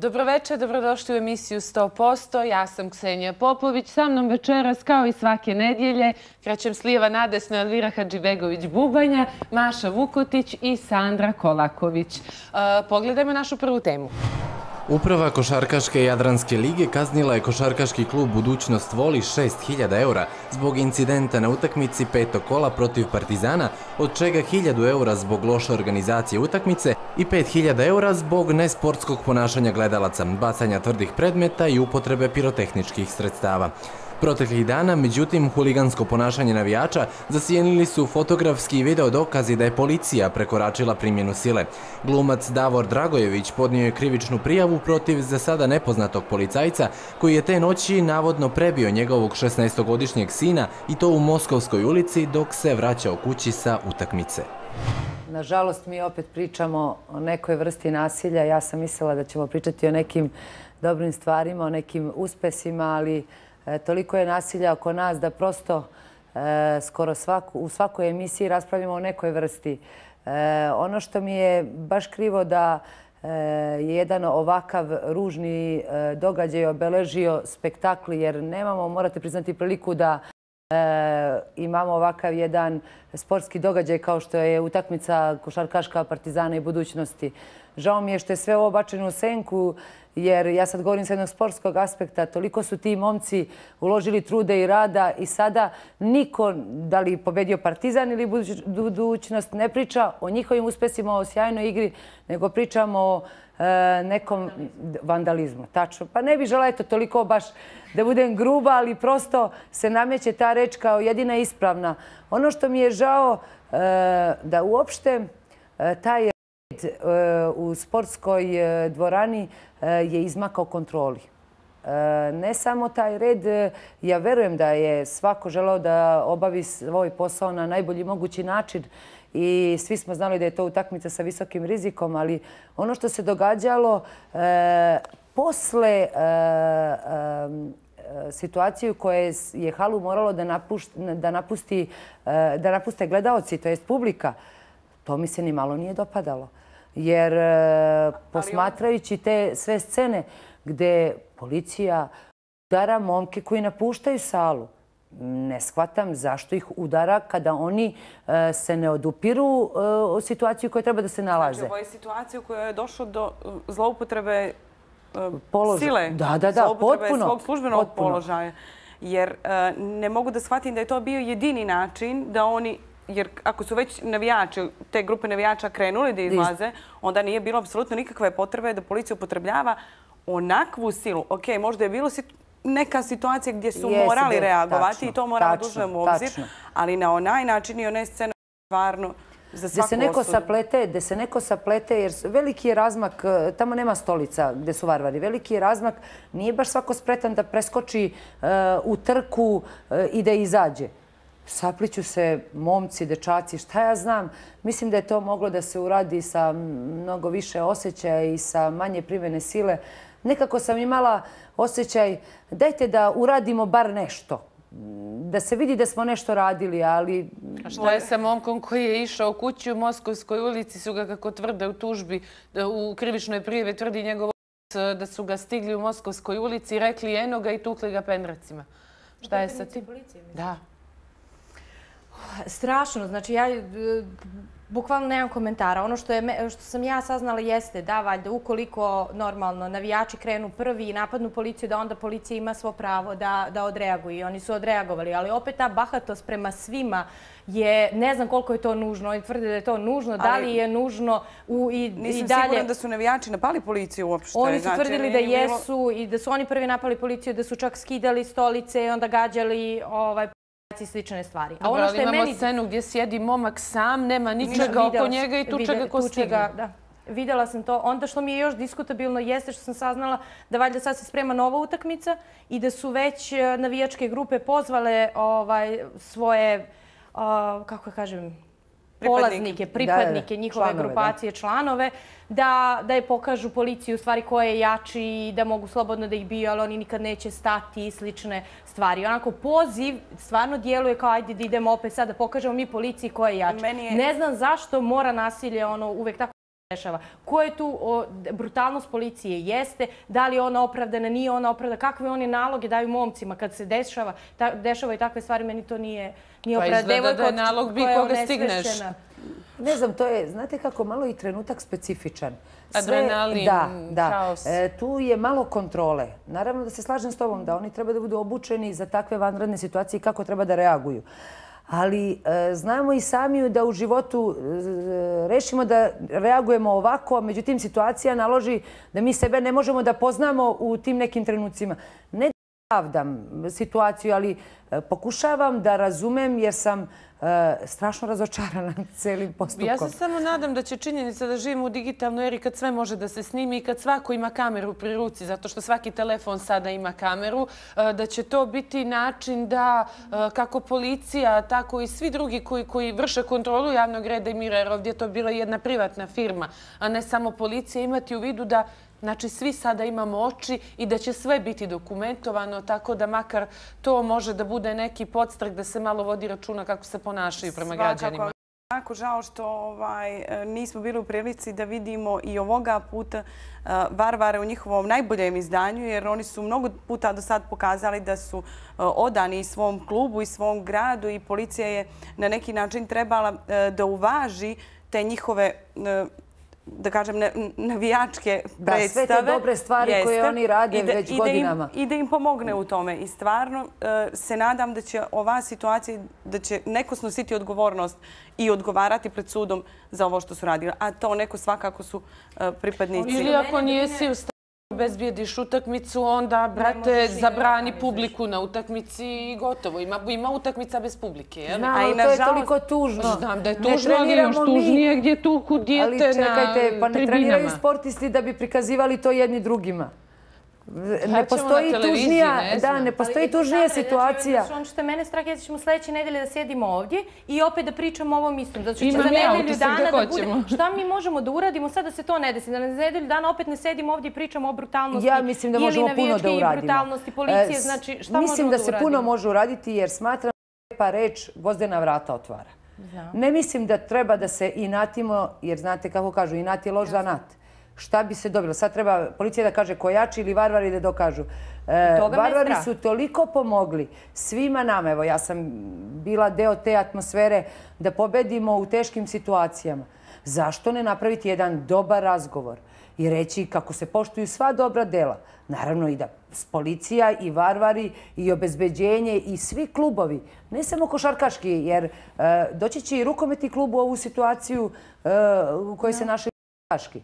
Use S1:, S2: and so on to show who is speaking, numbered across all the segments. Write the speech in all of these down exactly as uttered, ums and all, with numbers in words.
S1: Dobroveče, dobrodošli u emisiju sto posto. Ja sam Ksenija Popović. Sa mnom večeras, kao i svake nedjelje, krećem s lijeva nadesno Elvira Hadžibegović-Bubanja, Maša Vukotić i Sandra Kolaković. Pogledajmo našu prvu temu.
S2: Uprava Košarkaške Jadranske lige kaznila je košarkaški klub Budućnost Voli šest hiljada eura zbog incidenta na utakmici petog kola protiv Partizana, od čega hiljadu eura zbog loše organizacije utakmice i pet hiljada eura zbog nesportskog ponašanja gledalaca, bacanja tvrdih predmeta i upotrebe pirotehničkih sredstava. Proteklih dana, međutim, huligansko ponašanje navijača zasjenili su fotografski i video dokazi da je policija prekoračila primjenu sile. Glumac Davor Dragojević podnio je krivičnu prijavu protiv za sada nepoznatog policajca koji je te noći navodno prebio njegovog šesnaestogodišnjeg sina i to u Moskovskoj ulici dok se vraćao kući sa utakmice.
S3: Nažalost, mi opet pričamo o nekoj vrsti nasilja. Ja sam mislila da ćemo pričati o nekim dobrim stvarima, o nekim uspesima, ali toliko je nasilja oko nas da prosto skoro u svakoj emisiji raspravljamo o nekoj vrsti. Ono što mi je baš krivo da je jedan ovakav ružni događaj obeležio spektakli, jer nemamo, morate priznati, priliku da imamo ovakav jedan sportski događaj kao što je utakmica košarkaška Partizana i Budućnosti. Žao mi je što je sve ovo bačeno u senku, jer ja sad govorim s jednog sportskog aspekta. Toliko su ti momci uložili trude i rada i sada niko, da li pobedio Partizan ili Budućnost, ne priča o njihovim uspesima, o sjajnoj igri, nego pričamo o nekom vandalizmu. Tačno. Pa ne bih žela, eto, toliko baš da budem gruba, ali prosto se nameće ta reč kao jedina ispravna. Ono što mi je žao da uopšte taj red u sportskoj dvorani je izmakao kontroli. Ne samo taj red, ja verujem da je svako želeo da obavi svoj posao na najbolji mogući način i svi smo znali da je to utakmica sa visokim rizikom, ali ono što se događalo posle situacije u kojoj je halu moralo da napuste gledaoci, to jest publika, to mi se ni malo nije dopadalo. Jer posmatrajući te sve scene gde policija udara momke koji napuštaju salu, ne shvatam zašto ih udara kada oni se ne odupiru o situaciju u kojoj treba da se nalaze.
S4: Znači, ovo je situacija u kojoj je došlo do zloupotrebe sile,
S3: da, da, da, potpuno,
S4: svog službenog položaja. Jer ne mogu da shvatim da je to bio jedini način da oni, jer ako su već navijači, te grupe navijača krenuli da izlaze, onda nije bilo apsolutno nikakve potrebe da policija upotrebljava onakvu silu. Ok, možda je bilo neka situacija gdje su morali reagovati i to moramo da uzmemo u obzir, ali na onaj način i one scene stvarno za svaku osudu.
S3: Gde se neko saplete, jer veliki je razmak, tamo nema stolica gde su varvari, veliki je razmak, nije baš svako spretan da preskoči u trku i da izađe. Sapliću se momci, dečaci, šta ja znam. Mislim da je to moglo da se uradi sa mnogo više osjećaja i sa manje primjene sile. Nekako sam imala osjećaj, dajte da uradimo bar nešto. Da se vidi da smo nešto radili, ali...
S1: A šta je sa momkom koji je išao kući u Moskovskoj ulici, su ga, kako tvrde u tužbi, u krivičnoj prijavi tvrdi njegov otac da su ga stigli u Moskovskoj ulici i rekli eno ga i tukli ga pendracima. Šta je sa tim? Da.
S5: Strašno. Znači, ja bukvalno nemam komentara. Ono što sam ja saznala jeste da, valjda, ukoliko normalno navijači krenu prvi i napadnu policiju, da onda policija ima svo pravo da odreaguje. I oni su odreagovali. Ali opet ta bahatost prema svima je, ne znam koliko je to nužno. Oni tvrde da je to nužno. Da li je nužno i dalje...
S4: Nisam sigurna da su navijači napali policiju uopšte.
S5: Oni su tvrdili da jesu i da su oni prvi napali policiju, da su čak skidali stolice i onda gađali i slične stvari.
S1: Dobro, ali imamo scenu gdje sjedi momak sam, nema ničega oko njega i tuče ga ko stigne.
S5: Videla sam to. Onda što mi je još diskutabilno jeste što sam saznala da valjda sad se sprema nova utakmica i da su već navijačke grupe pozvale svoje, kako kažem, polaznike, pripadnike njihove grupacije, članove, da je pokažu policiju u stvari ko je jači i da mogu slobodno da ih biju, ali oni nikad neće stati i slične stvari. Onako, poziv stvarno djeluje kao ajde da idemo opet sad da pokažemo mi policiji ko je jači. Ne znam zašto mora nasilje uvek tako dešava. Ko je tu o, brutalnost policije jeste, da li je ona opravdana, nije ona opravdana, kakve oni naloge daju momcima kad se dešava, ta, dešava i takve stvari, meni to nije, nije
S1: Pa
S5: opravdano.
S1: izgleda da je nalog bi koga stigneš.
S3: Ne znam, to je, znate kako, malo i trenutak specifičan.
S1: Adrenalin,
S3: da, da.
S1: haos.
S3: E, tu je malo kontrole. Naravno da se slažem s tobom da oni treba da budu obučeni za takve vanredne situacije i kako treba da reaguju. Ali e, znamo i sami da u životu e, rešimo da reagujemo ovako, međutim situacija naloži da mi sebe ne možemo da poznamo u tim nekim trenucima. Ne da pravdam situaciju, ali e, pokušavam da razumem jer sam e, strašno razočarana celim postupkom.
S1: Ja se samo nadam da će činjenica da živimo u digitalnoj eri kad sve može da se snimi i kad svako ima kameru pri ruci, zato što svaki telefon sada ima kameru, da će to biti način da kako policija, tako i svi drugi koji, koji vrše kontrolu javnog reda i mira, jer ovdje je to bila jedna privatna firma, a ne samo policija, imati u vidu da znači, svi sada imamo oči i da će sve biti dokumentovano, tako da makar to može da bude neki podstrek da se malo vodi računa kako se ponašaju prema građanima.
S4: Jako žao što ovaj, nismo bili u prilici da vidimo i ovoga puta uh, Varvare u njihovom najboljem izdanju, jer oni su mnogo puta do sad pokazali da su uh, odani svom klubu i svom gradu i policija je na neki način trebala uh, da uvaži te njihove uh, da kažem, navijačke predstave.
S3: Da, sve te dobre stvari
S4: Jeste.
S3: koje oni rade
S4: da,
S3: već
S4: i
S3: godinama.
S4: Da im, I da im pomogne u tome. I stvarno uh, se nadam da će ova situacija, da će neko snositi odgovornost i odgovarati pred sudom za ovo što su radili. A to neko svakako su uh, pripadnici.
S1: Ili ako nijesi u stanju bezbjediš utakmicu, onda, brate, zabrani publiku na utakmici i gotovo. Ima, ima utakmica bez publike, jel?
S3: Znam, ali to je toliko tužno.
S1: Znam da je tužno, ali još tužnije gdje tuku dijete na tribinama. Ali čekajte,
S3: pa ne treniraju sportisti da bi prikazivali to jedni drugima. Ne postoji tužnija, da, ne postoji tužnija situacija.
S5: Ono što je mene strah je da ćemo sljedeće nedelje da sjedimo ovdje i opet da pričamo o ovom istom. Zato što
S1: Ima
S5: za nedelju
S1: utisak
S5: dana
S1: da
S5: da bude...
S1: hoćemo.
S5: Šta mi možemo da uradimo sad da se to ne desi? Da na nedelju dana opet ne sedimo ovdje i pričamo o brutalnosti
S3: ja mislim da možemo puno da uradimo.
S5: I brutalnosti policije. Znači, šta možemo da uradimo?
S3: Mislim da se puno može uraditi jer smatram da pa reč gvozdena vrata otvara. Ne mislim da treba da se inatimo, jer znate kako kažu, inat je loš zanat. Šta bi se dobilo? Sad treba policija da kaže ko jači ili varvari da dokažu. E, varvari su toliko pomogli svima nama. Evo, ja sam bila deo te atmosfere da pobedimo u teškim situacijama. Zašto ne napraviti jedan dobar razgovor i reći kako se poštuju sva dobra dela? Naravno i da policija i varvari i obezbeđenje i svi klubovi, ne samo košarkaški, jer e, doći će i rukometni klub u ovu situaciju e, u kojoj se našli košarkaški.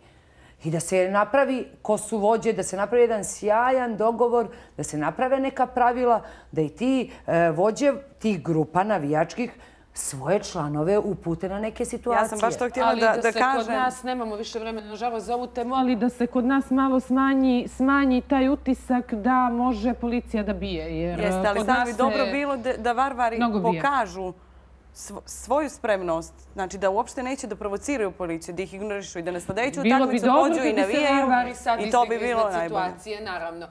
S3: I da se napravi ko su vođe, da se napravi jedan sjajan dogovor, da se naprave neka pravila, da i ti e, vođe tih grupa navijačkih svoje članove upute na neke situacije.
S4: Ja sam baš to htjela da, da,
S1: ali da se
S4: kažem.
S1: Kod nas, nemamo više vremena, nažalost, za ovu temu, ali da se kod nas malo smanji, smanji taj utisak da može policija da bije. Jer
S4: jeste, ali sad bi dobro bilo da, da varvari pokažu svoju spremnost, znači da uopšte neće da provociraju policiju, da ih ignorišu i da nasladajuću utakmicu pođu i navijaju.
S1: Bilo bi dobro kad bi se varvari sad
S4: i to bi bilo
S1: situacije, naravno.